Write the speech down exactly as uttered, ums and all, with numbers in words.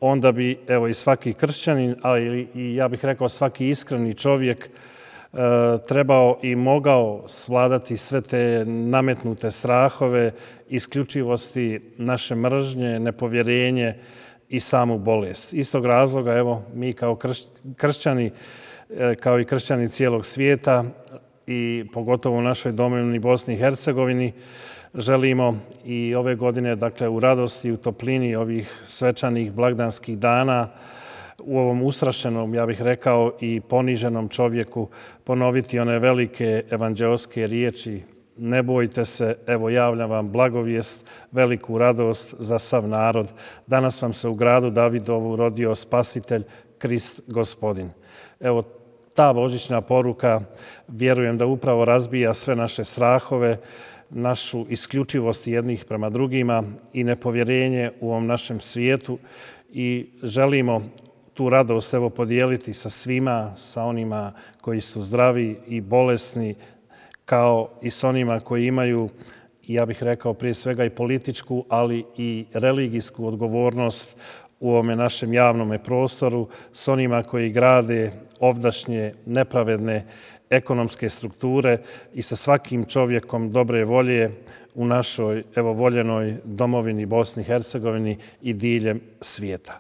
onda bi evo i svaki kršćanin, ali i ja bih rekao svaki iskreni čovjek trebao i mogao svladati sve te nametnute strahove, isključivosti, naše mržnje, nepovjerenje i samu bolest. Iz tog razloga, evo, mi kao kršćani, kao i kršćani cijelog svijeta i pogotovo u našoj domovini Bosni i Hercegovini, želimo i ove godine, dakle, u radosti i u toplini ovih svečanih blagdanskih dana, u ovom ustrašenom, ja bih rekao, i poniženom čovjeku ponoviti one velike evanđeoske riječi: ne bojte se, evo javljam vam blagovijest, veliku radost za sav narod. Danas vam se u gradu Davidovu rodio Spasitelj, Krist Gospodin. Evo, ta božićna poruka, vjerujem da upravo razbija sve naše strahove, našu isključivost jednih prema drugima i nepovjerenje u ovom našem svijetu i želimo tu radost evo podijeliti sa svima, sa onima koji su zdravi i bolesni, kao i s onima koji imaju, ja bih rekao prije svega i političku, ali i religijsku odgovornost u ovome našem javnom prostoru, s onima koji grade ovdašnje nepravedne ekonomske strukture i sa svakim čovjekom dobre volje u našoj evo voljenoj domovini Bosni i Hercegovini i diljem svijeta.